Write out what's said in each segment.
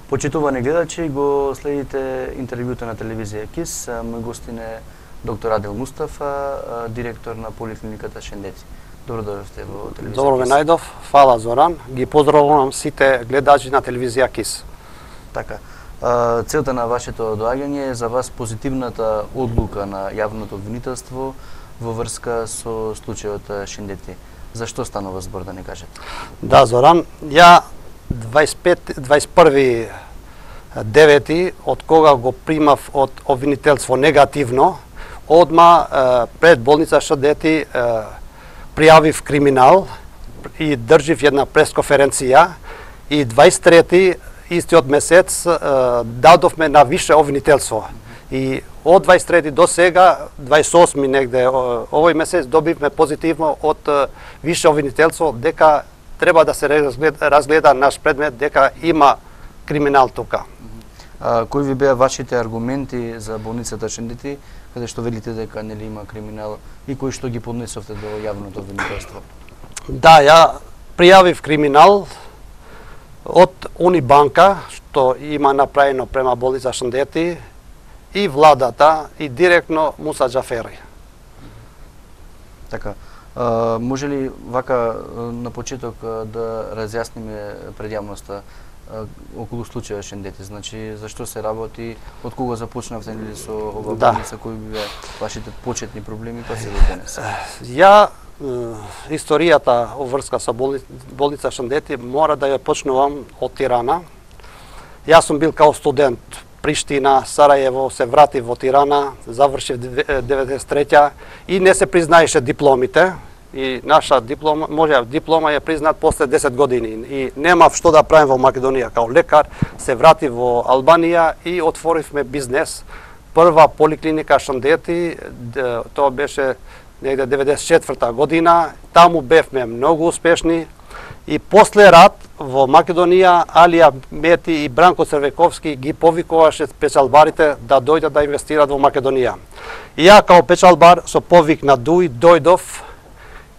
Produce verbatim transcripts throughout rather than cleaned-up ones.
Почитувани гледачи, го следите интервјуто на телевизија КИС. Мој гостин е доктор Адил Мустафа, директор на поликлиниката Шендети. Добро дојдовте во телевизија КИС. Добро ме најдов. Фала, Зоран. Ги поздравувам сите гледачи на телевизија КИС. Така. Целта на вашето доаѓање е за вас позитивната одлука на јавното обвинителство во врска со случајот Шендети. Зашто станува збор, да не кажете? Да, Зоран, ја дваесет и пет дваесет и први девети, од кога го примав од обвинителство негативно, одма пред болница Шендети пријавив криминал и држив една пресконференција и дваесет и трети истиот месец дадовме на више обвинителство. И од дваесет и трети до сега, дваесет и осми негде овој месец, добивме позитивно од више обвинителство дека треба да се разгледа, разгледа наш предмет, дека има криминал тука. А, кои ви беа вашите аргументи за болницата Шендети, каде што велите дека нели има криминал и кои што ги поднесовте до јавното обвинителство? Да, ја пријавив криминал од Унибанка, што има направено према болница Шендети, и владата, и директно Муса Џафери. Така. А, може ли вака на почеток да разјасниме пред јавноста околу случајот Шендети? Значи, зашто се работи, од кога започнавте нели со ова болница, кои беа вашите почетни проблеми, па се до денес? Ја историјата во врска со болница Шендети мора да ја почнувам од Тирана. Јас сум бил као студент Приштина, Сарајево, се вратив во Тирана, завршив деветдесет и трета и не се признаеше дипломите. И наша диплома, може диплома е признат после десет години и немав што да правим во Македонија као лекар, се вратив во Албанија и отворивме бизнес. Прва поликлиника Шендети, тоа беше негде деветдесет и четврта година, таму бевме многу успешни и после рат во Македонија Алија Мети и Бранко Црвековски ги повикуваше печалбарите да дојдат да инвестират во Македонија. И ја као печалбар со повик на Дуј дојдов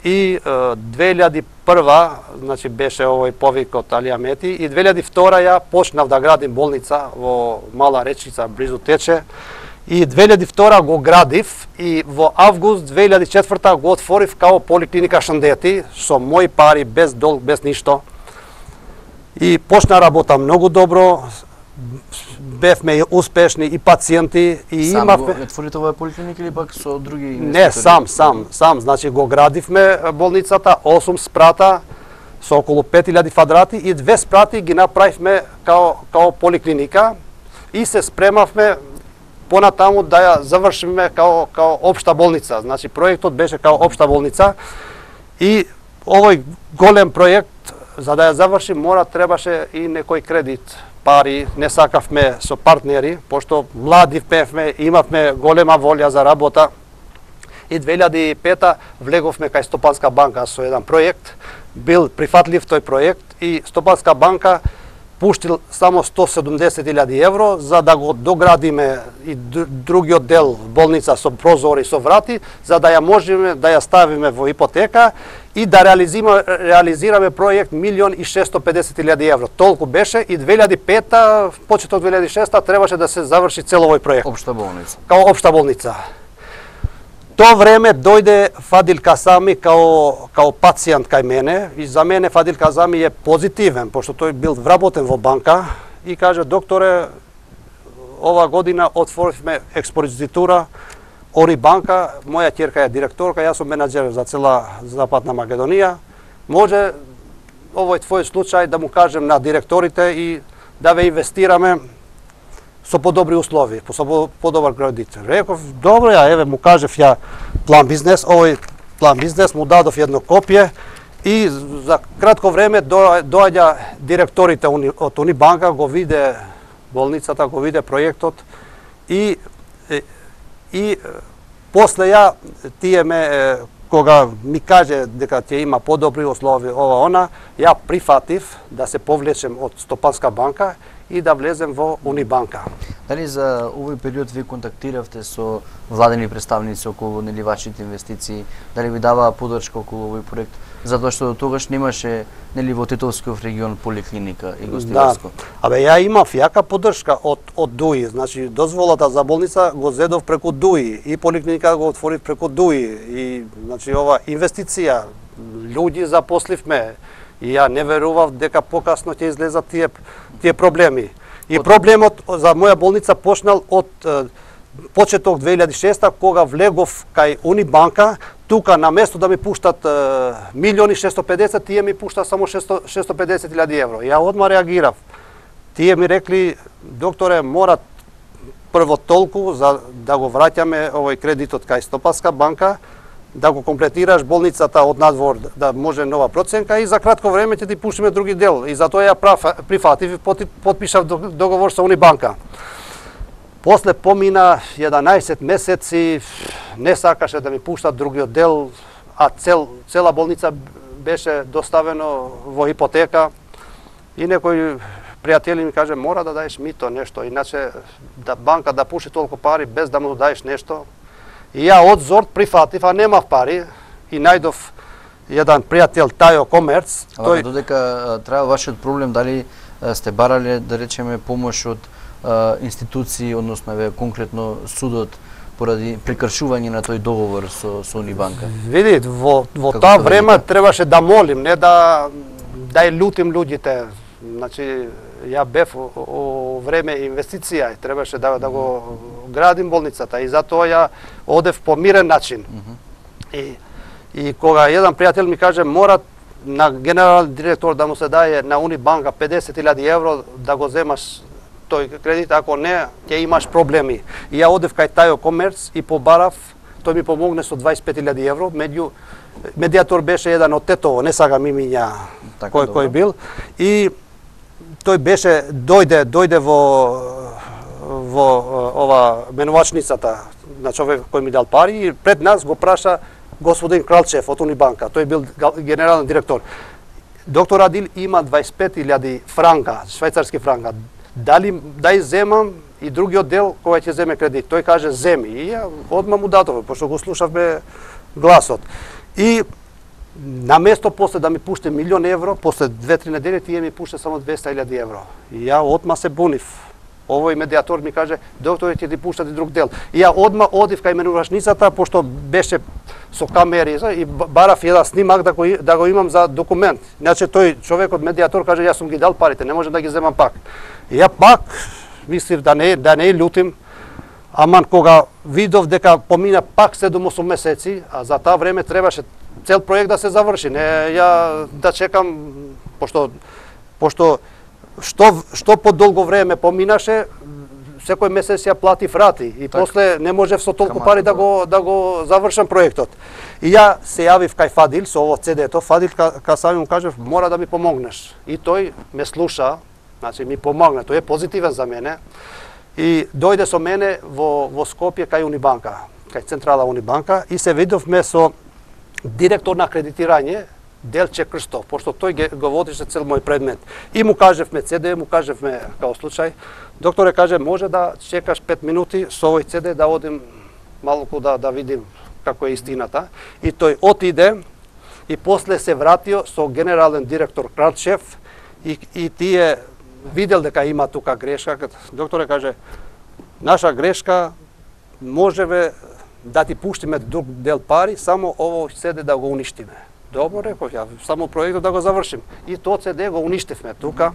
и две илјади и прва, значи беше овој повик од Алија Мети, и две илјади и втора ја почнав да градим болница во Мала Речица, близу Тече, и две илјади и втора го градив и во август две илјади и четврта го отворив као поликлиника Шендети со мои пари, без долг, без ништо. И почна работа многу добро, бевме успешни и пациенти и сам имавме... го отворите оваа поликлиника или пак со други инвеститори? Не, сам, сам, сам, значи го градивме болницата, осум спрата со околу пет илјади квадрати и две спрати ги направивме као као поликлиника и се спремавме понатаму да ја завршиме као као општа болница. Значи проектот беше као општа болница и овој голем проект за да ја завршим мора требаше и некој кредит, пари, не сакавме со партнери, пошто млади бевме, имавме голема волја за работа. И две илјади и пета влеговме кај Стопанска банка со еден проект, бил прифатлив тој проект и Стопанска банка пуштил само сто седумдесет илјади евро за да го доградиме и другиот дел болница со прозори, со врати, за да ја можеме да ја ставиме во ипотека и да реализираме, реализираме проект милион и шестстотини и педесет илјади евро. Толку беше и две илјади и пета, почеток две илјади и шеста требаше да се заврши цел овој проект. Општа болница. Као општа болница. Тоа време дојде Фадил Касами као као пациент кај мене и за мене Фадил Касами е позитивен, пошто тој бил вработен во банка и каже: докторе, ова година отворивме експозитура Ори банка, моја ќерка е директорка, јас сум менаџер за цела Западна Македонија. Може овој твој случај да му кажем на директорите и да ве инвестираме со подобри услови, со подобар кредит. Реков: добро, ја еве му кажев ја план бизнес, овој план бизнес му дадов едно копие и за кратко време доаѓа директорите од Унибанка, го виде болницата, го виде проектот и и после ја тие ме кога ми каже дека ќе има подобри услови ова она, ја прифатив да се повлечем од Стопанска банка и да влезем во Унибанка. Дали за овој период ви контактиравте со владени представници околу нели вашите инвестиции? Дали ви даваа подршка околу овој проект? Затоа што до тогаш немаше нели во Титовскиот регион поликлиника и гостиларско. Да. Абе ја имав јака подршка од од ДУИ, значи дозволата за болница го зедов преку ДУИ и поликлиника го отворив преку ДУИ и значи ова инвестиција, луѓе запосливме и ја не верував дека покасно ќе излезат тие тие проблеми. И од... проблемот за моја болница почнал од почеток две илјади и шеста кога влегов кај Унибанка. Тука на место да ми пуштат е, милиони шестстотини и педесет, тие ми пушта само шестстотини и педесет илјади евро. Ја одма реагирав. Тие ми рекли, докторе, мора прво толку за да го враќаме овој кредитот кај Стопанска банка, да го комплетираш болницата од надвор, да може нова проценка и за кратко време ќе ти пуштиме други дел. И затоа ја прифатив и потпишав договор со Унибанка. После помина еданаесет месеци, не сакаше да ми пуштат другиот дел, а цел, цела болница беше доставено во ипотека. И некој пријатели ми каже, мора да даеш мито нешто, иначе да банка да пуши толку пари без да му даеш нешто. И ја од зорт прифатив, а немав пари и најдов еден пријател Тајо Комерц. Тој... Додека треба вашиот проблем, дали сте барале, да речеме, помош од институции, односно еве конкретно судот поради прекршување на тој договор со со Унибанка? Види, во во тоа време требаше да молим, не да да ја лутим луѓите. Значи ја бев о време инвестиција и требаше да да го градим болницата и затоа ја одев по мирен начин. Mm -hmm. И и кога еден пријател ми каже мора на генерален директор да му се даде на Унибанка педесет илјади евро да го земаш тој кредит, ако не, ќе имаш проблеми. И ја одев кај Тајо Комерц и побарав, тој ми помогне со дваесет и пет илјади евро, меѓу медиатор беше еден од Тетово, не сагам имиња така, кој добро. Кој бил. И тој беше дојде дојде во во ова менувачницата на човек кој ми дал пари и пред нас го праша господин Кралчев од Унибанка, тој бил генерален директор. Доктор Адил има дваесет и пет илјади франка, швајцарски франка. Дали дај земам и другиот дел кој ќе земе кредит. Тој каже земи и ја одма му дадов, пошто го слушавме гласот. И на место после да ми пуште милион евро, после две-три недели тие ми пуште само двеста илјади евро. И ја одма се бунив. Овој медиатор ми каже, докторе ќе ти пуштат и друг дел. И ја одма одив кај менувачницата, пошто беше со камери и барав еден снимак да го, да го имам за документ. Иначе тој човекот медиатор каже, јас сум ги дал парите, не можам да ги земам пак. И ја пак мислив да не да не лутим, аман кога видов дека помина пак седум-осум месеци, а за таа време требаше цел проект да се заврши, не ја да чекам пошто пошто што што подолго време поминаше, секој месец ја платив рати и так. После не можев со толку пари да го да го завршам проектот. И ја се јавив кај Фадил со ово цедето, Фадил ка сами му кажав мора да ми помогнеш. И тој ме слуша, значи ми помогна, тој е позитивен за мене. И дојде со мене во во Скопје кај Унибанка, кај централа Унибанка и се видовме со директор на кредитирање Делче Крстов, пошто тој го водише цел мој предмет. И му кажевме ЦД, му кажевме као случај. Докторе каже, може да чекаш пет минути со овој ЦД да одим малку да да видим како е истината. И тој отиде и после се вратио со генерален директор Кралчев и, и тие видел дека има тука грешка. Докторе каже, наша грешка можеме да ти пуштиме друг дел пари, само овој ЦД да го уништиме. Добро, реков ја, само проектот да го завршим. И тоа ЦД го уништивме тука.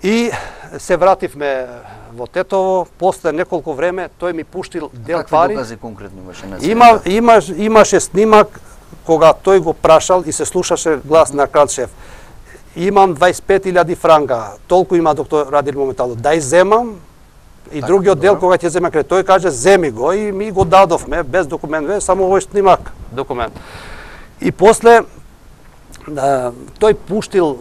И се вративме во Тетово, после неколку време тој ми пуштил дел какви пари. Какви докази конкретно имаше на Има, имаш, имаше снимак кога тој го прашал и се слушаше глас на Кралчев. Имам дваесет и пет илјади франка, толку има доктор Радил моментално. Дај земам и так, другиот дел кога ќе земе кредит. Тој каже земи го и ми го дадовме без документ, само овој снимак документ. И после да, тој пуштил,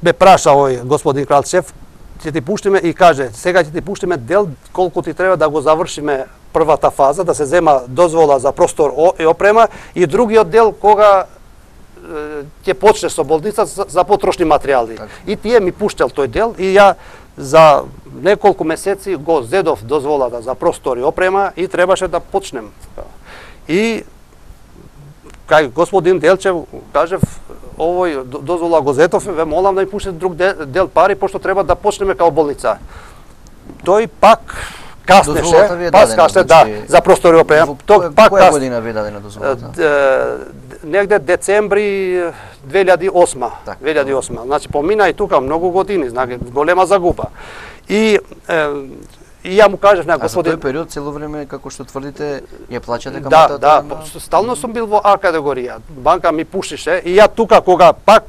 ме праша овој господин Кралчев, ќе ти пуштиме и каже, сега ќе ти пуштиме дел колку ти треба да го завршиме првата фаза, да се зема дозвола за простор и опрема и другиот дел кога ќе почне со болница за, за потрошни материјали. Так. И тие ми пуштел тој дел и ја за неколку месеци го зедов дозволата за простори опрема и требаше да почнем. И кај господин Делчев кажев овој дозвола го зетов, ве молам да ми пуштите друг дел, дел пари пошто треба да почнеме као болница. Тој пак каснеше, пак каснеше, да, за простори опрема. Тој пак која година ви дадена дозволата? Негде децември две илјади и осма. две илјади и осма. Значи помина и тука многу години, знаки, голема загуба. И е, и ја му кажав на господин... А за тој период цело време, како што тврдите, ја плаќате Да, каматата? да, на... стално сум бил во А категорија. Банка ми пушише и ја тука кога пак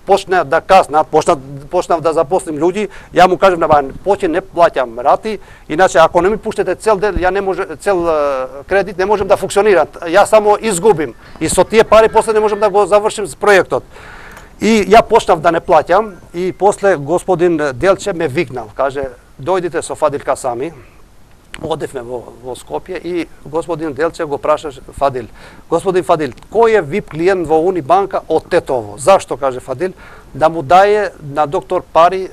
почна да каснат, почна почнав да запослим луѓе, ја му кажав на банка, поќе не плаќам рати, иначе ако не ми пуштите цел дел, ја не може цел кредит не можем да функционира. Ја само изгубим и со тие пари после не можем да го завршим проектот. И ја почнав да не плаќам и после господин Делче ме викнал, каже дојдите со Фадил Касами. Одевме во, во Скопје и господин Делче го прашаше Фадил. Господин Фадил, кој е вип клиент во Унибанка од Тетово? Зашто, каже Фадил, да му даje на доктор пари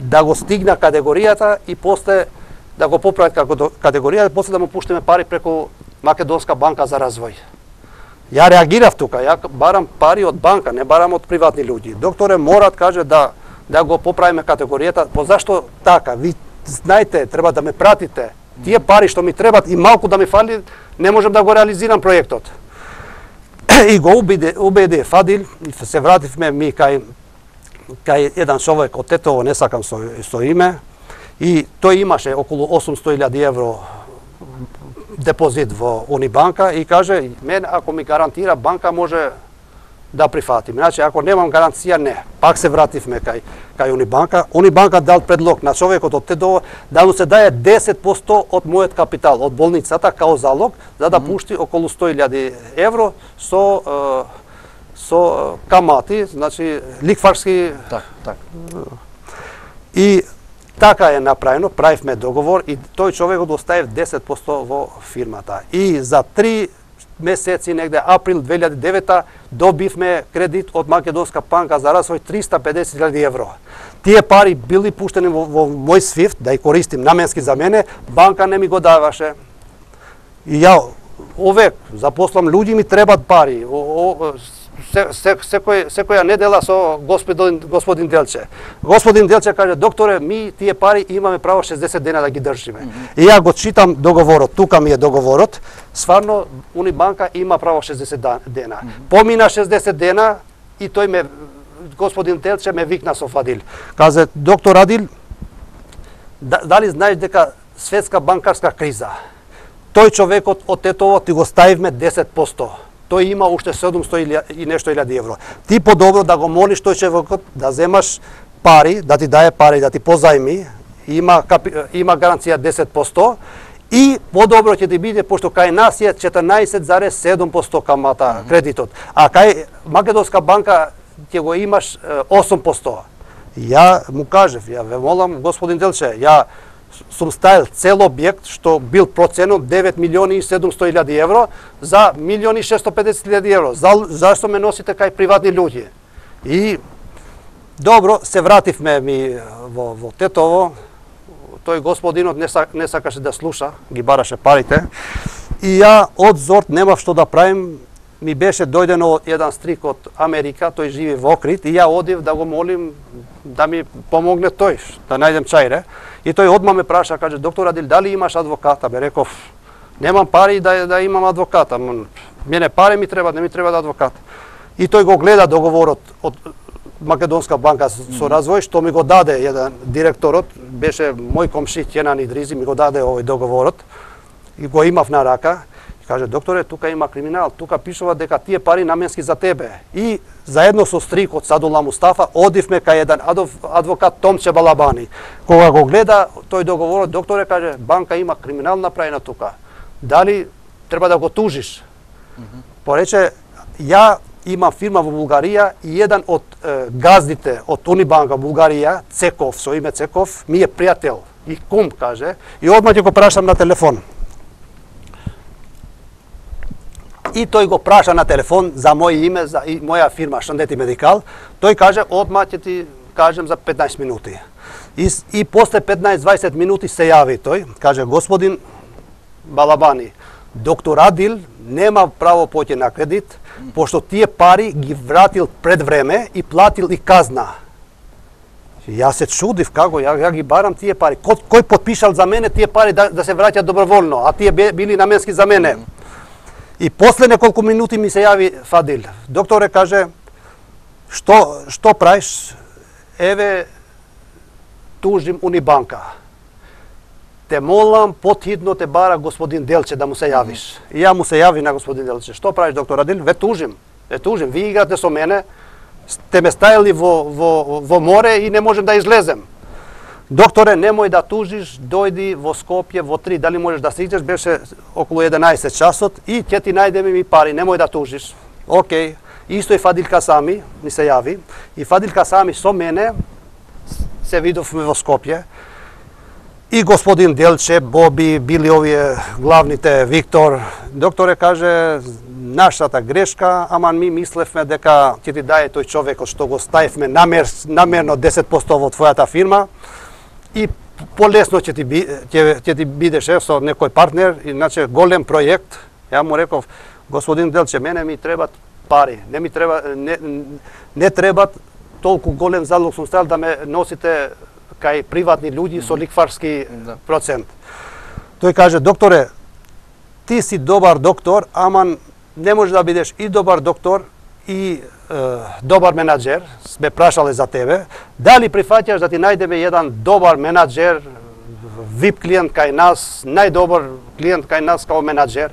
да го стигна категоријата и после да го поправат како категорија, после да му пуштиме пари преку Македонска банка за развој. Ја реагирав тука, ја барам пари од банка, не барам од приватни луѓе. Докторе, морат, каже, да да го поправиме категоријата. По зашто така? Ви знаете, треба да ме пратите. Тие пари што ми требат и малку да ми фали, не можам да го реализирам проектот. И го убеди, убеди Фадил, и се вративме ми кај кај еден човек од Тетово, не сакам со, со име, и тој имаше околу осумстотини илјади евро депозит во Унибанка и каже, мен ако ми гарантира банка може да прифатим. Значи, ако немам гаранција, не. Пак се вративме кај, кај Унибанка. Унибанка дал предлог на човекот од Тетово да му се даje десет проценти од мојот капитал, од болницата, као залог, за да mm -hmm. пушти околу сто илјади евро со, е, со камати, значи ликварски... Так, так. И така е направено, правивме договор и тој човекот оставив десет проценти во фирмата. И за три месеци, негде април две илјади и девета, добивме кредит од Македонска банка за развој триста и педесет илјади евро. Тие пари били пуштени во, во мој свифт, да ја користим наменски за мене, банка не ми го даваше. И ја овек запослам луѓе, ми требат пари. О, о, се, се, секој, секоја недела со господин, господин Делче. Господин Делче каже, докторе, ми тие пари имаме право шесдесет дена да ги држиме. Mm -hmm. И ја го читам договорот, тука ми е договорот. Сварно, Унибанка има право шесдесет дена. Mm -hmm. Помина шесдесет дена и тој ме, господин Делче ме викна со Фадил. Каза, доктор Адил, дали знаеш дека светска банкарска криза? Тој човекот од Тетово ти го ставивме десет проценти. Тој има уште седумстотини и нешто илјади евро. Ти подобро да го молиш тој човекот да земаш пари, да ти даje пари, да ти позајми, има капи, има гаранција десет проценти и подобро ќе ти биде пошто кај нас е четрнаесет зарез седум проценти камата mm -hmm. кредитот, а кај Македонска банка ќе го имаш осум проценти. Ја му кажев, ја ве молам господин Делче, ја сум ставил цел објект што бил проценет девет милиони и седумстотини илјади евро за милиони и шестстотини и педесет илјади евро. За, зашто ме носите кај приватни луѓе? И добро, се вративме ми во, во Тетово. Тој господинот не, сак, не сакаше да слуша, ги бараше парите. И ја од зорт немав што да правим. Ми беше дојдено еден стрик од Америка, тој живи во Охрид, и ја одив да го молим да ми помогне тој, да најдем чајре. И тој одма ме праша, каже, доктор Адил, дали имаш адвоката? Бе реков, немам пари да, да имам адвоката. Мене пари ми треба, не ми треба да адвокат. И тој го гледа договорот од Македонска банка со развој, што ми го даде еден директорот, беше мој комши Ќенан Идризи, ми го даде овој договорот и го имав на рака. Каже, докторе, тука има криминал, тука пишува дека тие пари наменски за тебе. И заедно со стрикот Садула Мустафа одивме кај еден адвокат Томче Балабани. Кога го гледа тој договорот, докторе, каже, банка има криминал направена тука. Дали треба да го тужиш? Mm -hmm. Порече, ја имам фирма во Булгарија и еден од е, газдите од Унибанка Булгарија, Цеков, со име Цеков, ми е пријател и кум, каже, и одма ќе го прашам на телефон. И тој го праша на телефон за моје име, за и моја фирма Шандети Медикал. Тој каже, одма ќе ти кажем за петнаесет минути. И, и после петнаесет-дваесет минути се јави тој, каже, господин Балабани, доктор Адил нема право поќе на кредит, пошто тие пари ги вратил пред време и платил и казна. Јас се чудив како, ја, ја ги барам тие пари. Кој, кој потпишал за мене тие пари да, да се враќаат доброволно, а тие били наменски за мене. И после неколку минути ми се јави Фадил. Докторе каже, што, што правиш? Еве, тужим Унибанка. Те молам, потхитно те бара господин Делче да му се јавиш. И ја му се јави на господин Делче. Што правиш, доктор Адил? Ве тужим. Ве тужим. Ви играте со мене, сте ме ставили во, во, во море и не можем да излезем. Докторе, немој да тужиш, дојди во Скопје во три, дали можеш да стигнеш, беше околу еденаесет часот и ќе ти најдеме ми пари, немој да тужиш. Океј. Исто и Фадил Касами ми се јави. И Фадил Касами со мене се видовме во Скопје. И господин Делче, Боби, били овие главните, Виктор. Докторе каже, нашата грешка, ама ми мислевме дека ќе ти даде тој човекот што го ставивме намер, намерно десет проценти во твојата фирма и полесно ќе ти, ќе, ќе ти бидеше со некој партнер, иначе голем проект. Ја му реков, господин Делче, мене ми требат пари, не ми треба, не, не требат толку голем залог сум ставил да ме носите кај приватни луѓи со ликварски процент. Тој каже, докторе, ти си добар доктор, ама не можеш да бидеш и добар доктор и е, добар менаџер. Сме прашале за тебе. Дали прифаќаш да ти најдеме еден добар менаџер, вип клиент кај нас, најдобар клиент кај нас као менаџер?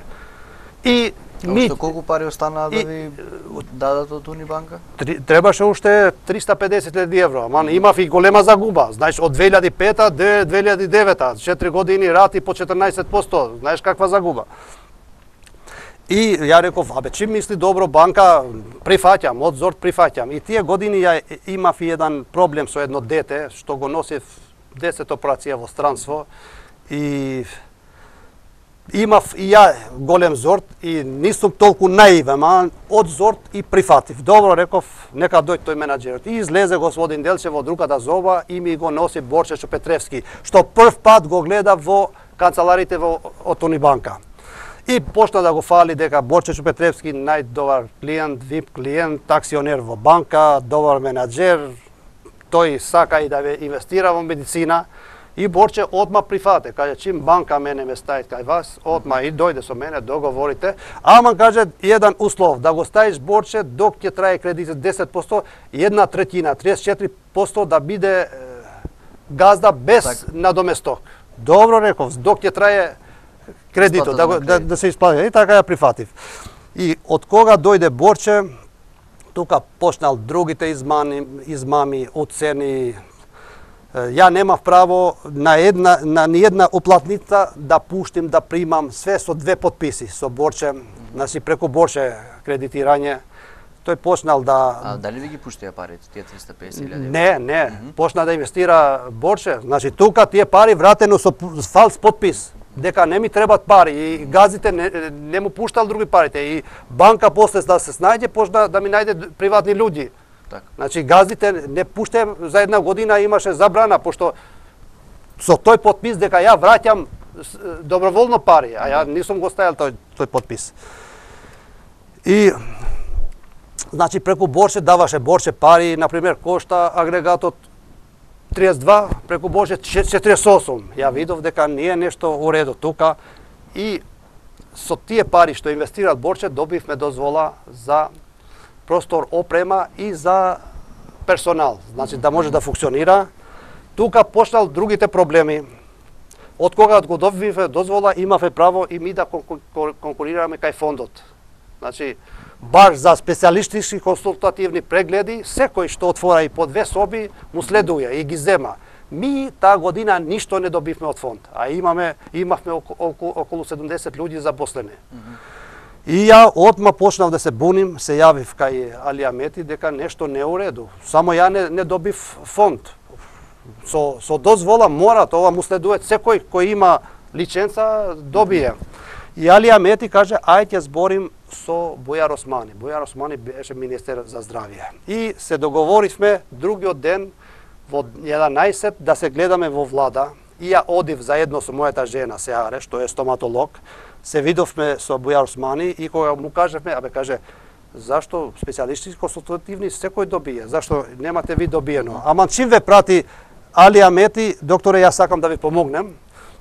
И Ми, колку пари останаа да ви дадат од Унибанка? Требаше уште триста и педесет илјади евро, ама имав и голема загуба. Знаеш, од две илјади и пета до две илјади и девета, четири години рати по четрнаесет проценти, знаеш каква загуба. И ја реков, абе, чим мисли добро банка, прифаќам, од зорт прифаќам. И тие години ја имав и еден проблем со едно дете, што го носив десет операција во странство и имав и ја голем зорт и нисум толку наивен, а од зорт и прифатив. Добро, реков, нека дојде тој менаџерот. И излезе господин Делче во другата зоба и ми го носи Борче Петревски, што прв пат го гледа во канцеларите во од Унибанка. И почна да го фали дека Борче Петревски најдобар клиент, вип клиент, акционер во банка, добар менаџер, тој сака и да ве инвестира во медицина. И Борче одма прифате, каже, чим банка мене ме стави кај вас, одма и дојде со мене, договорите. Ама каже, еден услов, да го ставиш Борче, док ќе трае кредитот десет проценти, една третина, триесет и четири проценти да биде е, газда без так. Надоместок. Добро реков, док ќе трае кредитот, да, да, да, да се исплати. И така ја прифатив. И од кога дојде Борче, тука почнал другите измами, измами уцени. Ја немав право на една на ниедна уплатница да пуштим да примам све со две подписи со Борче, значи преку Борче кредитирање. Тој почнал да А дали ви ги пуштија парите, тие триста и песет илјади? Не, не, mm -hmm. почна да инвестира Борче. Значи тука тие пари вратено со фалс подпис, дека не ми требат пари и газите не, не му пуштал други парите и банка после да се снајде почна да ми најде приватни луѓи. Так. Значи газдите не пуштаем за една година имаше забрана пошто со тој подпис дека ја враќам доброволно пари, а ја нисум го ставил тој тој подпис. И значи преку Борче даваше Борче пари, на пример кошта агрегатот триесет и два, преку Борче четириесет и осум. Ја видов дека не е нешто уредо тука и со тие пари што инвестирал Борче добивме дозвола за простор, опрема и за персонал, значи да може да функционира. Тука почнал другите проблеми. Од кога го добивме дозвола, имавме право и ми да конкурираме кај фондот. Значи, баш за специјалистички консултативни прегледи, секој што отвора и по две соби, му следуја и ги зема. Ми таа година ништо не добивме од фонд, а имаме имавме околу, околу седумдесет луѓе запослени. Mm -hmm. И ја одма почнав да се буним, се јавив кај Али Амети дека нешто не е уреду. Само ја не, не добив фонд. Со, со дозвола мора, тоа му следува секој кој има лиценца добие. И Али Амети каже, ајде ќе зборим со Бујар Османи. Бујар Османи беше министер за здравје. И се договоривме другиот ден во еданаесет да се гледаме во влада. И ја одив заедно со мојата жена Сеаре, што е стоматолог. Се видовме со Бујар Османи и кога му кажевме, абе каже, зашто специјалисти консултативни секој добие? Зашто немате ви добиено? Ама чим ве прати Али Амети, докторе, јас сакам да ви помогнем.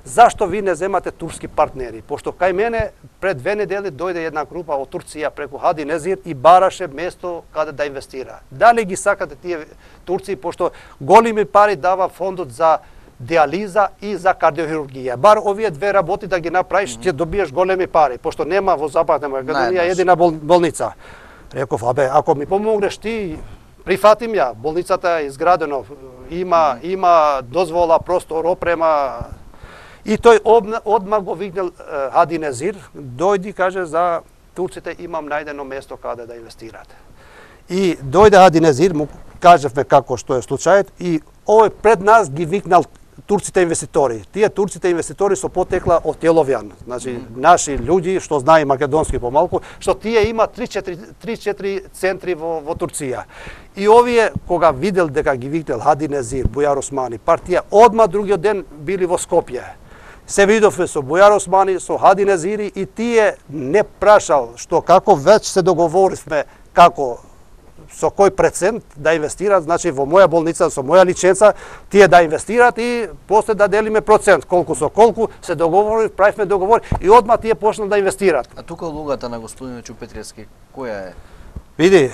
Зашто ви не земате турски партнери? Пошто кај мене пред две недели дојде една група од Турција преку Хади Незир и бараше место каде да инвестира. Дали ги сакате тие турци, пошто големи пари дава фондот за диализа и за кардиохирургија. Бар овие две работи да ги направиш, ќе добиеш големи пари, пошто нема во Западна Македонија едина бол, болница. Реков, абе, ако ми помогнеш ти, прифатим ја. Болницата е изградено, има има дозвола, простор, опрема. И тој одма го викнал Хади Незир, дојди, каже, за турците имам најдено место каде да инвестират. И дојде Хади Незир, му кажевме како што е случајот, и овој пред нас ги викнал турците инвеститори. Тие турците инвеститори со потекла од Теловјан, значи mm. наши луѓе што знае македонски помалку, што тие има три-четири центри во, во Турција. И овие кога видел дека ги викнал Хади Незир, Бујар Османи, партија, одма другиот ден били во Скопје. Се видовме со Бујар Османи, со Хади Незири и тие не прашал што како веќе се договоривме како со кој процент да инвестират, значи во моја болница, со моја лиценца, тие да инвестират и после да делиме процент, колку со колку, се договори, правивме договор и одма тие почнат да инвестират. А тука улогата на господин Чупетревски, која е? Види,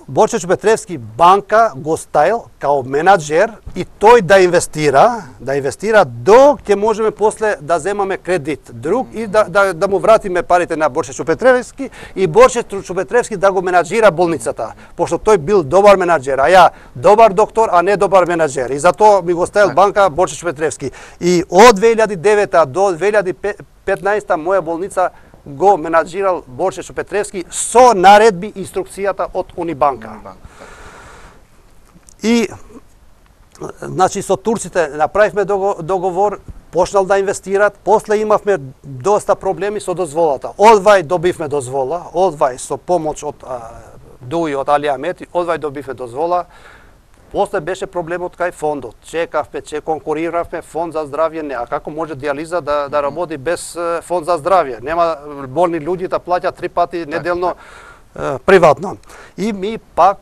Борче Чупетревски банка го ставил као менаџер и тој да инвестира, да инвестира док ќе можеме после да земаме кредит друг и да, да, да му вратиме парите на Борче Чупетревски и Борче Чупетревски да го менаџира болницата, пошто тој бил добар менаџер, а ја добар доктор, а не добар менаџер. И затоа ми го ставил банка Борче Чупетревски. И од две илјади и девета до две илјади и петнаесета моја болница го менаџирал Борче Чупетревски со наредби и инструкцијата од Унибанка. И значи со турците направивме договор, почнал да инвестират, после имавме доста проблеми со дозволата. Одвај добивме дозвола, одвај со помош од Дуи, од Али Амети, одвај добивме дозвола. После беше проблемот кај фондот. Чекавме, че конкуриравме, фонд за здравје не. А како може диализа да, да работи без фонд за здравје? Нема болни луѓе да плаќаат три пати неделно е, приватно. И ми пак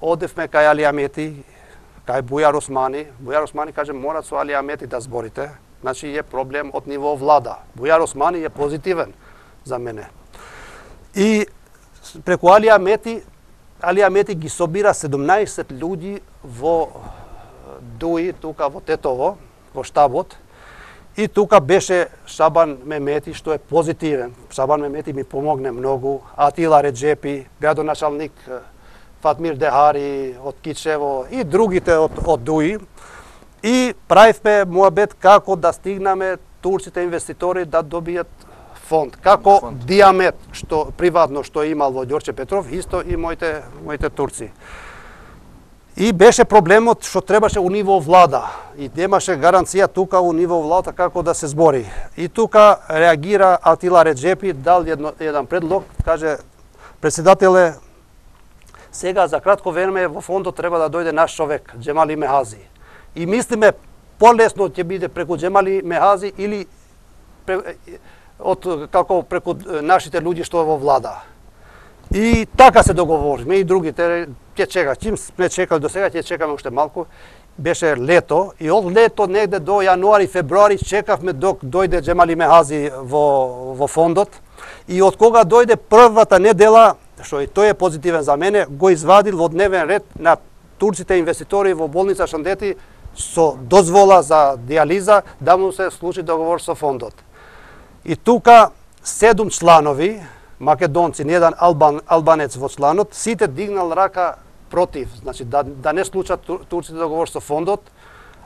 одевме кај Али Амети, кај Бујар Османи. Бујар Османи каже, мора со Али Амети да зборите. Значи е проблем од ниво влада. Бујар Османи е позитивен за мене. И преку Али Амети Али Амети ги собира седумнаесет луѓи во Дуи, тука во Тетово, во штабот. И тука беше Шабан Мемети, што е позитивен. Шабан Мемети ми помогне многу. Атила Реджепи, градоначалник Фатмир Дехари од Кичево и другите од, од Дуи. И правивме муабет како да стигнаме турците инвеститори да добијат фонд, како фонд. Диамет, што приватно што имал во Ѓорче Петров, исто и моите моите турци. И беше проблемот што требаше у ниво влада и немаше гаранција тука у ниво влада како да се збори. И тука реагира Атила Реджепи, дал едно, еден предлог, каже председателе, сега за кратко време во фондот треба да дојде наш човек, Џемали Мехази. И мислиме полесно ќе биде преку Џемали Мехази или од како преку нашите луѓе што во влада. И така се договориме и другите ќе чека. Чим сме чекали до сега, ќе чекаме уште малку. Беше лето и од лето негде до јануари, февруари чекавме док дојде Џемали Мехази во во фондот. И од кога дојде првата недела, што и тој е позитивен за мене, го извадил во дневен ред на турците инвеститори во болница Шандети со дозвола за диализа да му се случи договор со фондот. И тука седум чланови, македонци, не еден албан, албанец во чланот, сите дигнал рака против, значи да, да не случат турците договор со фондот,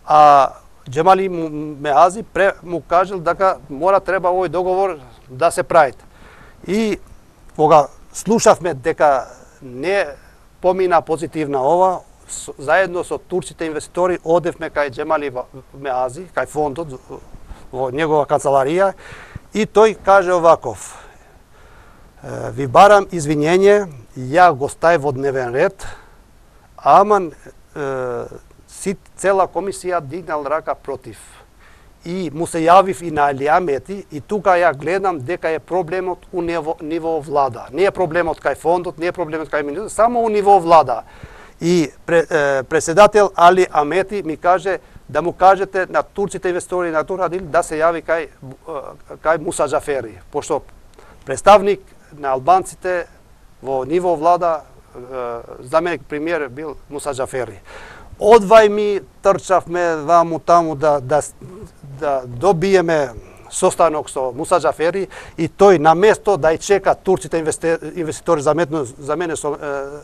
а Џемали Мехази пре, му кажал дека мора треба овој договор да се прави. И кога слушавме дека не помина позитивна ова, заедно со турците инвеститори одевме кај Џемали Мехази, кај фондот, во негова канцеларија, и тој каже оваков: Ви барам извинење, ја го стај во дневен ред, ама си цела комисија дигнал рака против. И му се јавив и на Али Амети и тука ја гледам дека е проблемот у ниво, ниво влада. Не е проблемот кај фондот, не е проблемот кај министерството, само у ниво влада. И председател Али Амети ми каже да му кажете на турците инвеститори на Турадил да се јави кај, кај Муса Џафери, пошто представник на албанците во ниво влада, заменик премиер бил Муса Џафери. Одвај ми трчавме ваму таму да, да, да добиеме состанок со Муса Џафери и тој на место да ја чека турците инвеститори заедно, за мене со,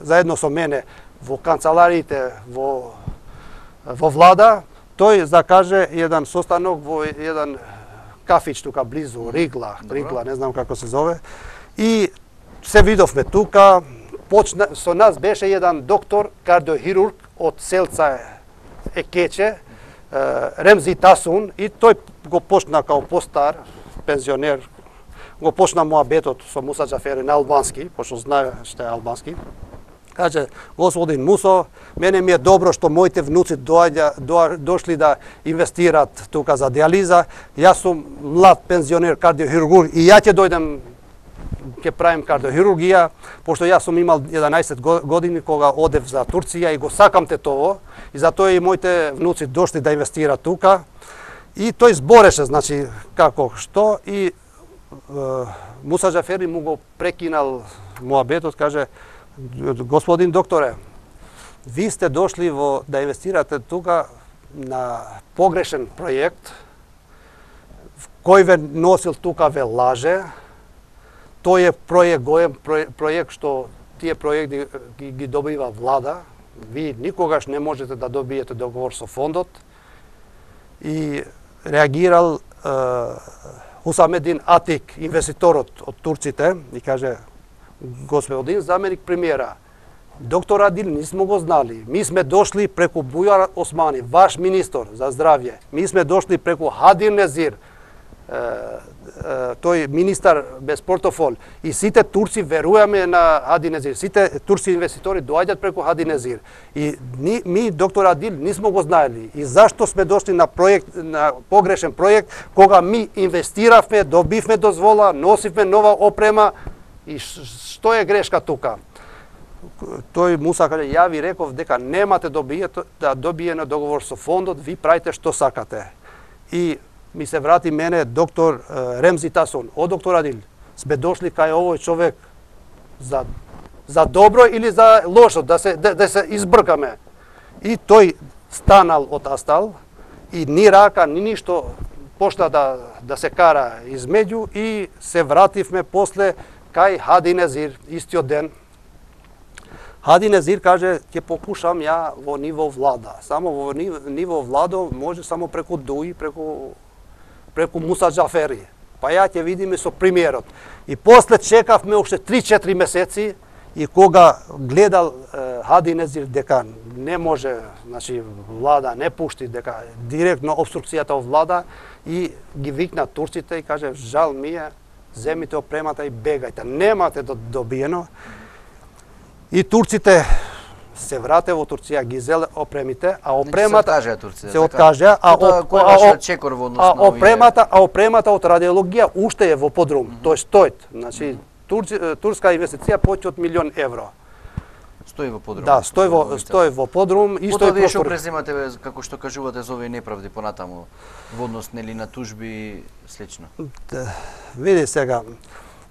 заедно со мене во канцелариите во, во влада, тој закаже еден состанок во еден кафич тука близу, Ригла, Ригла, не знам како се зове. И се видовме тука, почна, со нас беше еден доктор, кардиохирург од селца Екече, Ремзи Тасун, и тој го почна као постар, пензионер, го почна муабетот со Муса Џафери на албански, пошто знае што е албански. Каже, господин Мусо, мене ми е добро што моите внуци доаѓа, до, дошли да инвестират тука за диализа. Јас сум млад пензионер кардиохирург и ја ќе дојдем ќе правим кардиохирургија, пошто јас сум имал еданаесет години кога одев за Турција и го сакам тетово, и затоа и моите внуци дошли да инвестираат тука. И тој збореше, значи, како, што, и е, Муса Џафери му го прекинал муабетот, каже, господин докторе, ви сте дошли во да инвестирате тука на погрешен проект, кој ве носил тука ве лаже. Тој е проект, гоем проект што тие проекти ги, ги добива влада. Ви никогаш не можете да добиете договор со фондот. И реагирал е, Хусамедин Атик, инвеститорот од турците, и каже, господин заменик премиера, доктор Адил не сме го знали. Ми сме дошли преку Бујар Османи, ваш министр за здравје. Ми сме дошли преку Хади Незир, тој министар без портофол. И сите турци веруваме на Хади Незир. Сите турци инвеститори доаѓаат преку Хади Незир. И ни, ми, доктор Адил, не сме го знаели. И зашто сме дошли на проект, на погрешен проект, кога ми инвестиравме, добивме дозвола, носивме нова опрема, и што е грешка тука? Тој Муса каже, ја ви реков дека немате добиете, да добиене договор со фондот, ви правите што сакате. И ми се врати мене доктор Ремзи Тасон, о доктор Адил, сме дошли кај овој човек за, за добро или за лошо, да се, да, да се избркаме. И тој станал од Астал и ни рака, ни ништо почна да, да се кара измеѓу и се вративме после кај Хади Незир, истиот ден. Хади Незир каже, ќе покушам ја во ниво влада. Само во ниво владо може само преку Дуи, преку, преку Муса Џафери. Па ја ќе видиме со премиерот. И после чекавме уште три-четири месеци и кога гледал е, Хади Незир дека не може, значи влада не пушти, дека директно обструкцијата од влада, и ги викна турците и каже, жал ми е, земите опремата и бегајте, немате да добиено. И турците се врате во Турција, ги зеле опремите, а опремата се откажа, се откажа, а, а, чекор во однос а на опремата, а опремата од радиологија уште е во подрум, mm -hmm. тој стоит. Значи турци, турска инвестиција поќе од милион евро. Стои во подрум. Да, стои во стои во подрум и стои простор. Што преземате, како што кажувате за овие неправди понатаму во однос нели на тужби и слично? Да, види сега.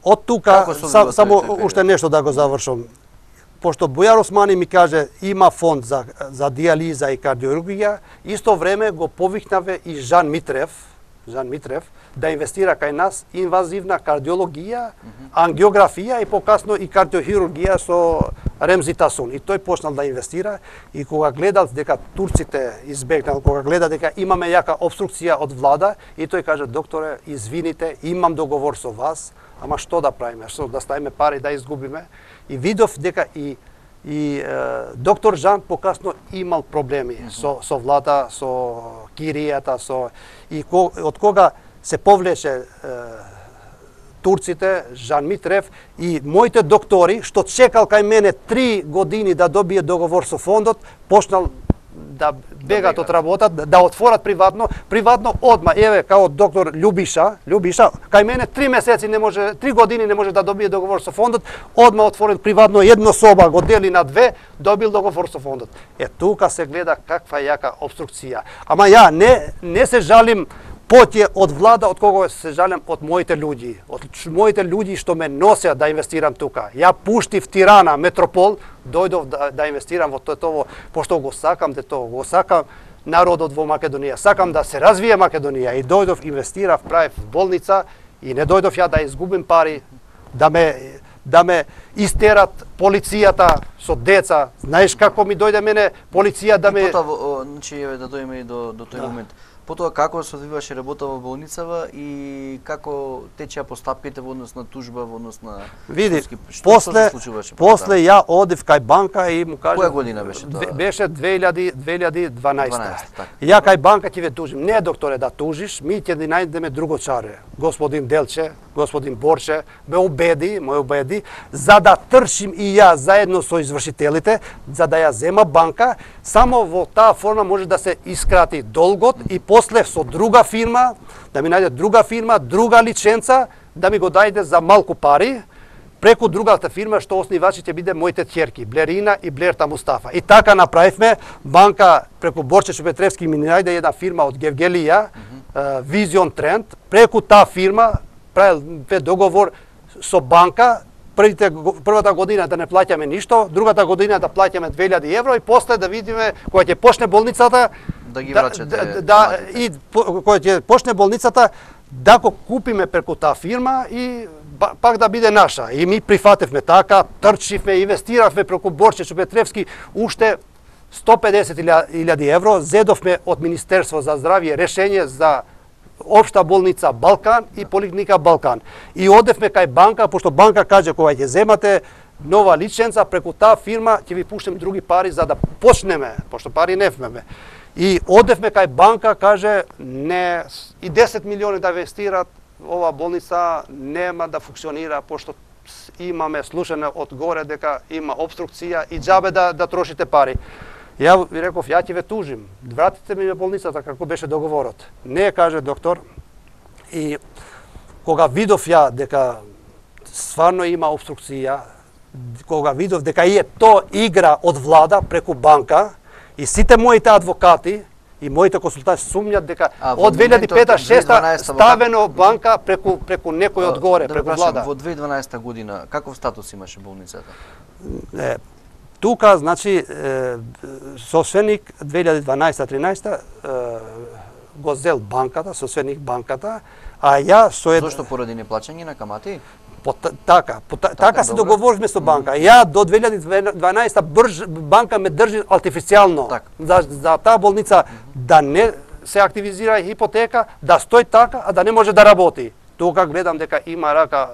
Од тука сам, само уште нешто да го завршам. Пошто Бујар Османи ми каже има фонд за за диализа и кардиохирургија, исто време го повикнаве и Жан Митрев, Жан Митрев да инвестира кај нас инвазивна кардиологија, mm -hmm. ангиографија и покасно и кардиохирургија со Ремзи Тасун. И тој почнал да инвестира и кога гледал дека турците избегнал, кога гледа дека имаме јака обструкција од влада, и тој каже, докторе, извините, имам договор со вас, ама што да правиме, што да ставиме пари да изгубиме. И видов дека и и е, доктор Жан покасно имал проблеми mm -hmm. со со влада, со киријата, со и ко, од кога се повлече е, турците, Жан Митрев и моите доктори, што чекал кај мене три години да добие договор со фондот, почнал да бегат од работа, да отворат приватно, приватно одма, еве, као доктор Љубиша, Љубиша, кај мене три месеци не може, три години не може да добие договор со фондот, одма отворил приватно едно соба, го дели на две, добил договор со фондот. Е, тука се гледа каква јака обструкција. Ама ја не, не се жалим поќе од влада, од кого се жалам од моите луѓи, од моите луѓи што ме носеа да инвестирам тука. Ја пуштив Тирана, Метропол, дојдов да, да инвестирам во тоа, пошто го сакам де тоа, го сакам народот во Македонија, сакам да се развие Македонија и дојдов, инвестирав, правев болница и не дојдов ја да изгубим пари, да ме да ме истерат полицијата со деца. Знаеш како ми дојде мене полиција да ме... Потоа, значи, еве да дојдеме и до, до тој да. момент. Потоа како се одвиваше работа во болницава и како течеа постапките во однос на тужба, во однос на... Види, што, после, што после ја одив кај банка и му кажа... Која година беше тоа? Беше две илјади дванаесета. дванаесета, така. Ја кај банка ќе ве тужим. Не, докторе, да тужиш, ми ќе ни најдеме друго чаре. Господин Делче, господин Борче, ме убеди, ме убеди, за да тршим и ја заедно со извршителите, за да ја зема банка, само во таа форма може да се искрати долгот и после со друга фирма, да ми најде друга фирма, друга лиценца, да ми го дајде за малку пари, преку другата фирма што основачи ќе биде моите ќерки, Блерина и Блерта Мустафа. И така направивме, банка преку Борче Шупетревски ми најде една фирма од Гевгелија, Vision Trend, преку таа фирма правил договор со банка, првите првата година да не плаќаме ништо, другата година да плаќаме две илјади евро и после да видиме кога ќе почне болницата да ги врачате. Да, да и кога ќе почне болницата да го купиме преку таа фирма и пак да биде наша. И ми прифатевме така, трчивме, инвестиравме преку Борче Шупетревски уште сто педесет илјади евро, зедовме од Министерство за здравје решение за Општа болница Балкан и Поликлиника Балкан. И одевме кај банка, пошто банка каже кога ќе земате нова лиценца преку таа фирма ќе ви пуштим други пари за да почнеме, пошто пари нефмеме. И одевме кај банка, каже не и десет милиони да инвестират, ова болница нема да функционира пошто имаме слушане од горе дека има обструкција и џабе да да трошите пари. Ја ви реков, ја ќе ве тужим, вратите ми болницата како беше договорот. Не, каже доктор. И кога видов ја дека стварно има обструкција, кога видов дека е то игра од влада преку банка и сите моите адвокати и моите консултанти сумњат дека а, од две илјади и пета шеста ставено банка преку преку некој од горе, да, преку влада. Во две илјади и дванаесета година каков статус имаше болницата? Е, тука, значи, собственик две илјади и дванаесета тринаесета го зел банката, собственик банката, а ја со ед... Зошто поради неплаќање на камати? По, така, по, така, така се договоривме со банка. Mm. Ја до две илјади и дванаесета брж, банка ме држи артифицијално так. за, за таа болница mm -hmm. да не се активизира хипотека, да стои така, а да не може да работи. Тука гледам дека има рака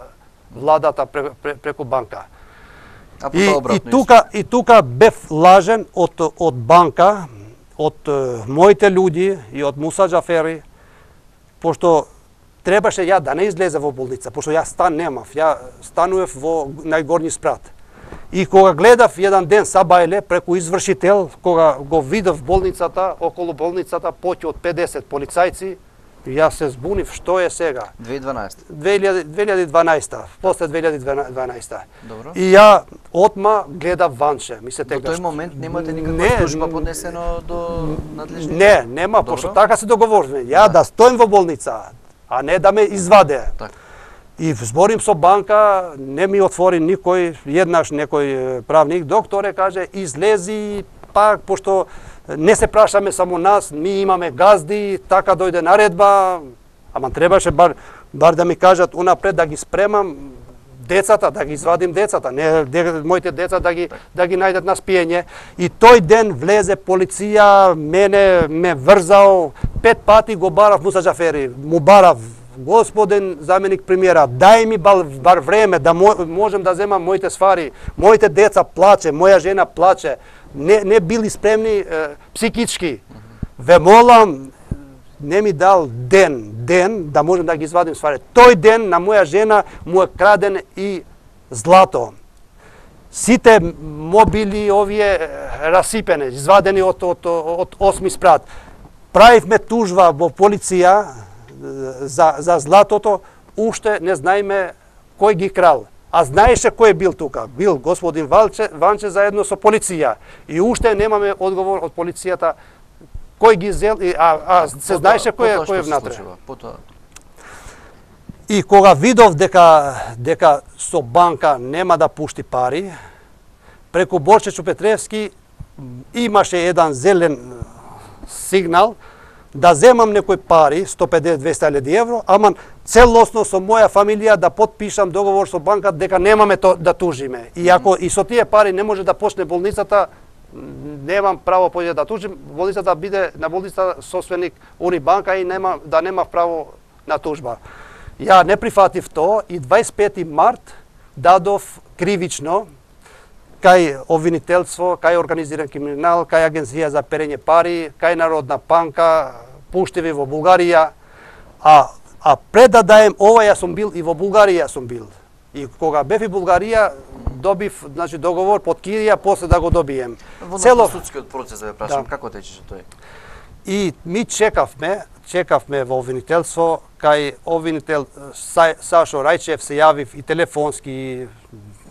владата пре, пре, преку банка. А и, и тука и тука бев лажен од од банка, од моите луѓи и од Муса Џафери, пошто требаше ја да не излезе во болница, пошто ја стан немав, ја станував во најгорни спрат. И кога гледав еден ден сабајле преку извршител, кога го видов болницата, околу болницата поќе од педесет полицајци, јас се збунив што е сега. две илјади и дванаесета. две илјади и дванаесета, после две илјади и дванаесета. Добро. И ја отма гледав ванче, ми се тегаш. До тој момент немате никаква не, тужба поднесено до надлежните? Не, нема, пошто така се договоривме. Ја да. да стоим во болница, а не да ме изваде. Так. И зборим со банка, не ми отвори никој, еднаш некој правник, докторе каже, излези пак, пошто не се прашаме само нас, ми имаме газди, така дојде наредба, ама требаше бар, бар да ми кажат унапред да ги спремам децата, да ги извадим децата, не де, моите деца да ги да ги најдат на спиење. И тој ден влезе полиција, мене ме врзал, пет пати го барав Муса Џафери, му барав господин заменик премиера, дај ми бар, бар време да можем да земам моите ствари, моите деца плаче, моја жена плаче, не не били спремни е, психички. Ве молам, не ми дал ден, ден, да можем да ги извадим ствари, тој ден на моја жена му е краден и злато. Сите мобили овие расипени, извадени од, од, од осми спрат. Правивме тужба во полиција за, за златото, уште не знаеме кој ги крал. А знаеше кој бил тука. Бил господин Ванче, Ванче заедно со полиција. И уште немаме одговор од полицијата кој ги зел, а, а се знаеше кој е кој е внатре. И кога видов дека дека со банка нема да пушти пари, преку Борче Чупетревски имаше еден зелен сигнал да земам некои пари, сто педесет до двесте илјади евро, ама целосно со моја фамилија да потпишам договор со банка дека немаме то, да тужиме. И ако и со тие пари не може да почне болницата, немам право поќе да тужим, болницата да биде на болницата собственик Унибанка и нема да нема право на тужба. Ја не прифатив то и дваесет и пети март дадов кривично кај обвинителство, кај организиран криминал, кај Агенција за перење пари, кај Народна банка, пуштиви во Бугарија, а а пред да даем ова ја сум бил и во Бугарија сум бил. И кога бев и Бугарија добив, значи договор под кирија, после да го добием. Во Цело судскиот процес да ве прашам, да. Како течеше тој? И ми чекавме, чекавме во обвинителство, кај обвинител Са, Сашо Рајчев се јавив и телефонски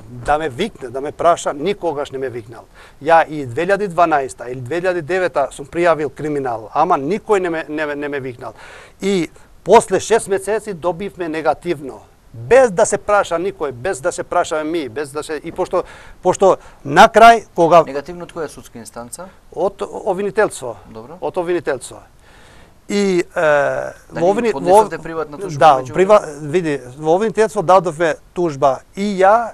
да ме викне, да ме праша, никогаш не ме викнал. Ја и две илјади и дванаесета или две илјади и девета сум пријавил криминал, ама никој не ме, не, не ме викнал. И после шест месеци добивме негативно, без да се праша никој, без да се прашаме ми, без да се и пошто пошто на крај кога негативно од која судска инстанца? Од обвинителство. Добро. Од обвинителство. И е, да во обвини поднесовте приватна тужба? Да, прива, види, во обвинителство дадовме тужба и ја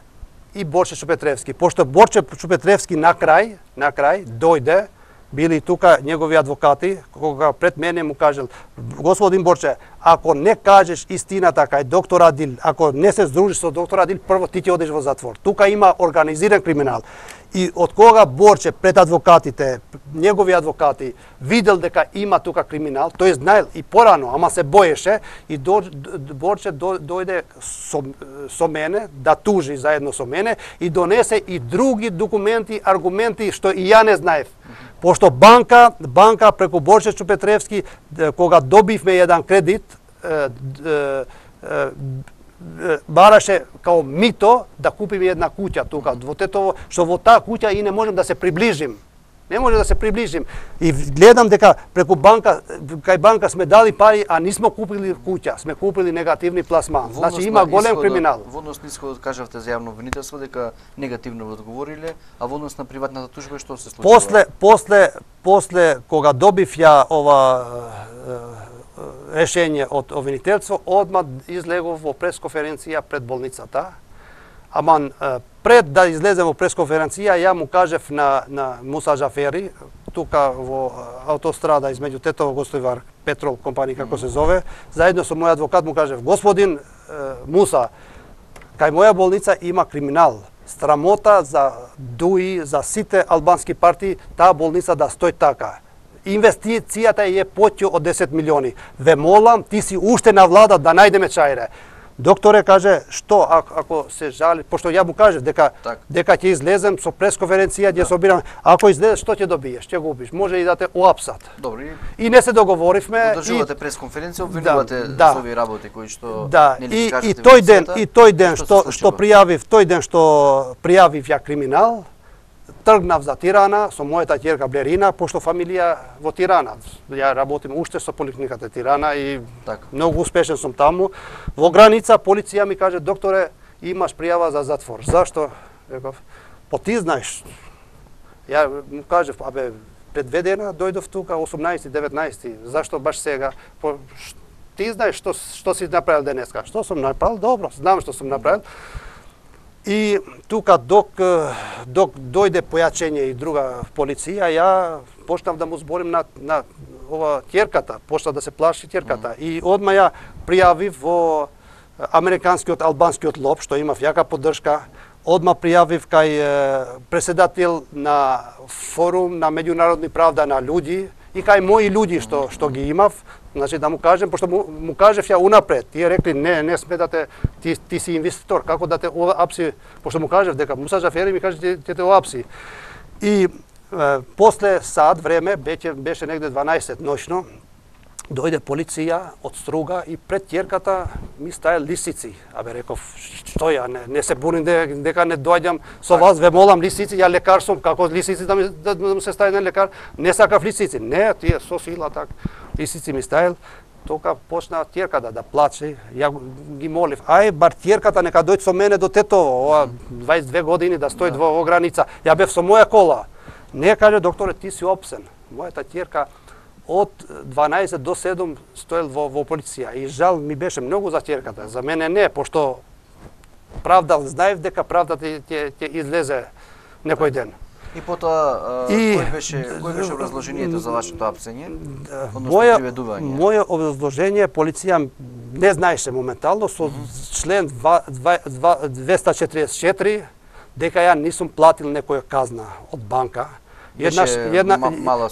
и Борче Чупетревски. Пошто Борче Чупетревски на крај, на крај дојде, били тука негови адвокати, кога пред мене му кажел: господин Борче, ако не кажеш истината кај доктор Адил, ако не се здружиш со доктор Адил, прво ти ќе одиш во затвор. Тука има организиран криминал. И од кога Борче пред адвокатите, негови адвокати, видел дека има тука криминал, тој знаел и порано, ама се боеше, и до, Борче до, дојде со, со мене, да тужи заедно со мене, и донесе и други документи, аргументи, што и ја не знаев. Пошто банка, банка преку Борче Чупетревски, кога добивме еден кредит, е, е, е, бараше као мито да купиме една куќа тука во Тетово, што во таа куќа и не можем да се приближим. Не може да се приближим. И гледам дека преку банка, кај банка сме дали пари, а нисмо купили куќа, сме купили негативни пласман. Значи има голем криминал. Во однос на исходот кажавте за јавно обвинителство дека негативно ви одговориле, а во однос на приватната тужба што се случило? После после после кога добив ја ова решение од обвинителство, одма излегов во пресконференција пред болницата. Ама пред да излезем во пресконференција, ја му кажев на, на Муса Джафери, тука во автострада измеѓу Тетово Гостивар Петрол компанија како се зове, заедно со мој адвокат му кажев: господин е, Муса, кај моја болница има криминал. Страмота за ДУИ, за сите албански партии, таа болница да стои така. Инвестицијата е поќе од десет милиони. Ве молам, ти си уште на влада да најдеме чајре. Докторе каже: што ако, ако се жали, пошто ја му кажев дека так. дека ќе излезем со пресконференција, ќе се обирам, ако излезеш што ќе добиеш, ќе губиш, може и да те уапсат. Добро. И, и не се договоривме. Одржувате и пресконференција, обвинувате да, со овие работи кои што да, нели и, кажете. И тој ден, и тој ден што што што пријавив, тој ден што пријавив ја криминал, тргнав за Тирана со мојата ќерка Блерина, пошто фамилија во Тирана. Ја работим уште со поликлиниката Тирана и така. Многу успешен сум таму. Во граница полиција ми каже: докторе, имаш пријава за затвор. Зашто? Реков: по ти знаеш. Ја му кажев: абе, пред две дена дојдов тука, осумнаесети, деветнаесети. Зашто баш сега? По, ти знаеш што што си направил денеска. Што сум направил? Добро, знам што сум направил. И тука док док дојде појачење и друга полиција, ја почнав да му зборим на на ова ќерката, почна да се плаши ќерката. Mm. И одма ја пријавив во американскиот албанскиот лоб, што имав јака поддршка. Одма пријавив кај преседател на форум на меѓународни правда на луѓи и кај мои луѓи што што ги имав, значи да му кажем, пошто му, му кажев ја унапред, тие рекли не, не сметате, ти ти си инвеститор, како да те апси, пошто му кажев дека Муса Џафери ми каже ти те, те апси. И е, после сад време, беше беше негде дванаесет ноќно, дојде полиција од Струга и пред ќерката ми стаја лисици. Абе реков, што ја, не, не се буним дека не доаѓам со вас, ве молам лисици, ја лекар сум, како лисици да ми, да, да ми се стаја на лекар, не сакав лисици. Не, тие со сила так, лисици ми стајал. Тока почна ќерката да плаче, ја ги молив, ај бар ќерката нека дојде со мене до Тетово, ова дваесет и две години да стои во, во граница. Ја бев со моја кола. Не, каже докторе, ти си опсен. Мојата ќерка од дванаесет до седум стоел во, во полиција и жал ми беше многу за ќерката. За мене не, пошто правда, знаев дека правдата ќе ќе излезе некој ден. И потоа и, кој беше кој беше образложението за вашето апсење? Моја моје образложение полиција не знаеше моментално со член двеста четириесет и четири дека ја нисум платил некоја казна од банка. Еднаш една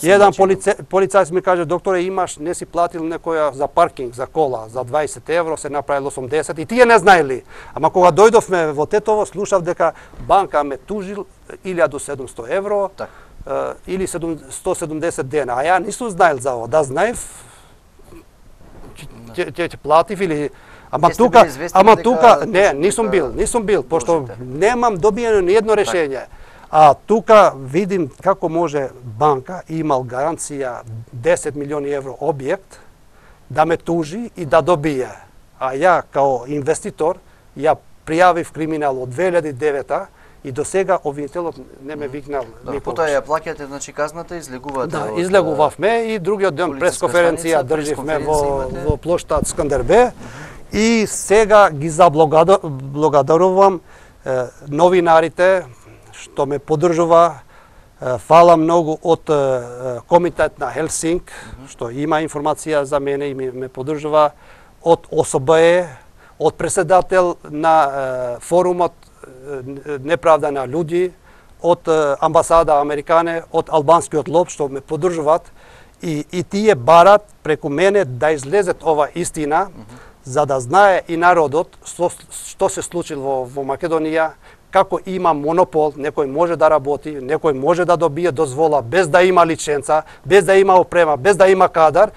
еден полице, полицајец ми каже докторе имаш не си платил некоја за паркинг за кола за дваесет евро се направил осумдесет и тие не знаели. Ама кога дојдовме во Тетово слушав дека банка ме тужил илјада и седумстотини евро так. или сто седумдесет дена, а ја нисум знаел за ова. Да знаев ќе ќе платив или ама Ке тука ама тука не нисум бил, нисум бил пошто немам добиено ни едно решение. А тука видим како може банка имал гаранција десет милиони евро објект да ме тужи и да добие. А ја као инвеститор ја пријавив криминал од две илјади и девета и до сега обвинителот не ме викнал да, никогаш. Потоа ја плаќате значи казната, излегувате. Да, излегувавме и другиот ден пресконференција држивме во во плоштад Скандербе и сега ги заблагодарувам новинарите што ме поддржува, фала многу од комитет на Хелсинк, mm -hmm. што има информација за мене и ме поддржува, од О С Б Е, од председател на форумот Неправда на луѓи, од амбасада Американе, од албанскиот лоб што ме поддржуваат и, и тие барат преку мене да излезет ова истина, mm -hmm. за да знае и народот што, што се случило во, во Македонија, како има монопол, некој може да работи, некој може да добие дозвола без да има лиценца, без да има опрема, без да има кадар,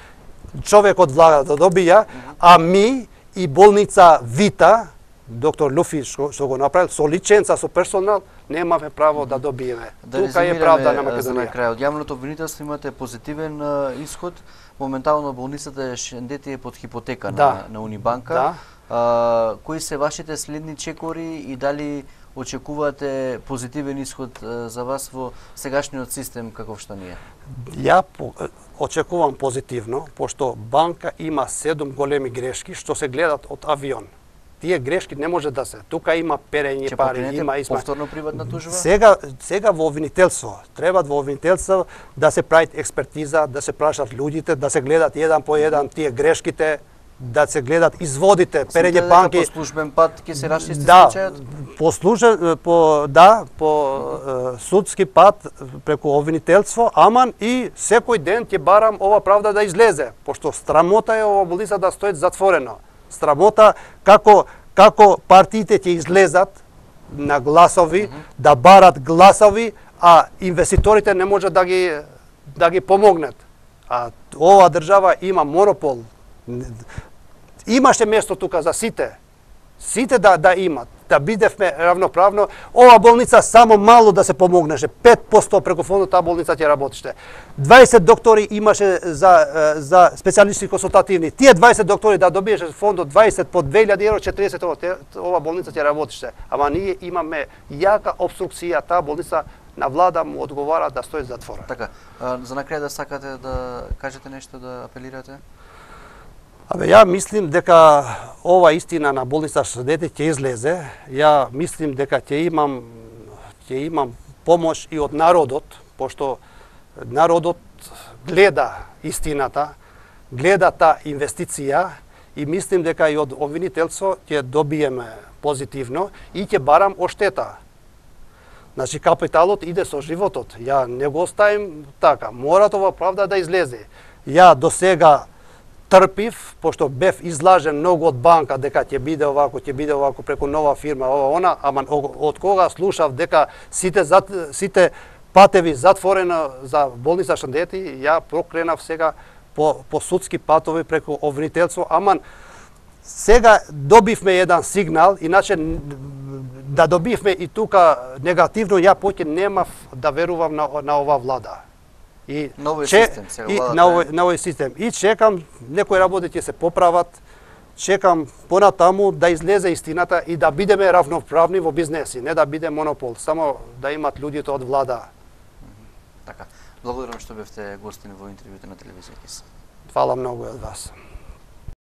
човек од влада да добија, а ми и болница Вита, доктор Луфи што, што го направил, со лиценца, со персонал, немаме право да добиеме. Да тука е правда на Македонија. За на крај, од јавното обвинителство имате позитивен uh, исход. Моментално болницата Шендети е под хипотека да. на, на Унибанка. Да. Uh, кои се вашите следни чекори и дали очекувате позитивен исход за вас во сегашниот систем каков што ни е? Ја очекувам позитивно, пошто банка има седум големи грешки што се гледат од авион. Тие грешки не може да се. Тука има перење пари, има изма. Повторно приватна тужба? Сега сега во обвинителство, треба во обвинителство да се прави експертиза, да се прашат луѓите, да се гледат еден по еден тие грешките, да се гледат изводите, перење банки. По службен пат ќе се расчисти да, случајот? По службен по да, по uh-huh. судски пат преку обвинителство, аман и секој ден ќе барам ова правда да излезе, пошто срамота е ова болница да стои затворено. Срамота како како партиите ќе излезат на гласови, uh-huh. да барат гласови, а инвеститорите не може да ги да ги помогнат. А ова држава има монопол. Имаше место тука за сите. Сите да да имат, да бидевме равноправно. Ова болница само мало да се помогнеше. пет проценти преку фондот таа болница ќе работеше. дваесет доктори имаше за за специјалисти консултативни. Тие дваесет доктори да добиеше фондот дваесет по две илјади евро, четириесет ова болница ќе работеше. Ама ние имаме јака обструкција, таа болница на влада му одговара да стои затворена. Така, за на крај да сакате да кажете нешто, да апелирате? Абе, ја мислим дека ова истина на болница Шендети ќе излезе. Ја мислим дека ќе имам ќе имам помош и од народот, пошто народот гледа истината, гледа таа инвестиција и мислим дека и од обвинителство ќе добиеме позитивно и ќе барам оштета. Значи капиталот иде со животот. Ја не го оставим така. Мора ова правда да излезе. Ја до сега трпив, пошто бев излажен многу од банка дека ќе биде овако, ќе биде овако преку нова фирма, ова она, ама од кога слушав дека сите зат, сите патеви затворено за болница Шандети, ја прокренав сега по по судски патови преку обвинителство, ама сега добивме еден сигнал, иначе да добивме и тука негативно, ја поќе немав да верувам на, на ова влада. И новој че, систем, сега и владата на овој, на овој систем. И чекам некои работи ќе се поправат, чекам понатаму да излезе истината и да бидеме равноправни во бизнеси, не да биде монопол, само да имат луѓето од влада. Така. Благодарам што бевте гостин во интервјуто на телевизија КИС. Фала многу од вас.